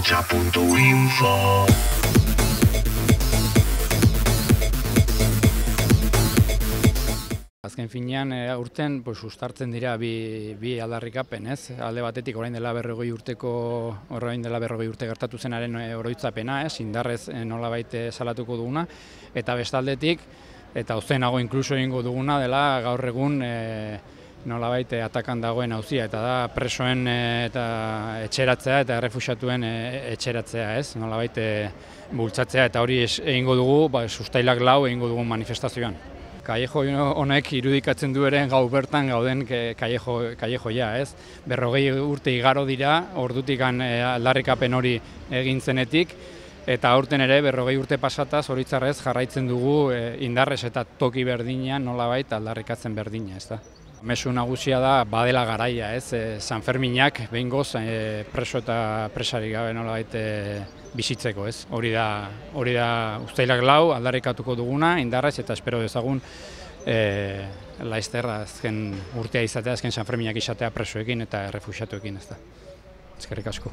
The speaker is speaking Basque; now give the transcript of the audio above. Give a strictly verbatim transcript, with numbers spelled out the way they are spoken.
ahotsa puntu info. Azken finean, aurten sustartzen dira bi, bi aldarrikapen, ez? Alde batetik orain dela berrogei urteko, orain dela berrogei urte gertatu zenaren oroitzapena, ez? Indarrez nolabait salatuko duguna, eta bestaldetik, eta ozenago inkluso egingo duguna dela gaur egun e, nolabait atakan dagoen auzia, eta da presoen e, eta etxeratzea eta errefuxiatuen e, etxeratzea, ez? Nolabait e, bultzatzea, eta hori egingo dugu, ba, sustailak lau egingo dugu manifestazioan. Kallejo honek irudikatzen du ere gau bertan gauden kallejoia, ez? Berrogei urte igaro dira, ordutik aldarrikapen hori egin zenetik, eta aurten ere berrogei urte pasata zoritxarrez jarraitzen dugu indarrez eta toki berdinean nolabait aldarrikatzen berdina, ez da? Mezu nagusia da badela garaia, ez? San Ferminak behingoz preso eta presari gabe nolabait bizitzeko, ez? Hori da, hori da uztailak lau aldarrikatuko duguna indarrez eta espero dezagun e, laizter azken urtea izatea, azken San Ferminak izatea presoekin eta errefuxiatuekin, ez da. Eskerrik asko.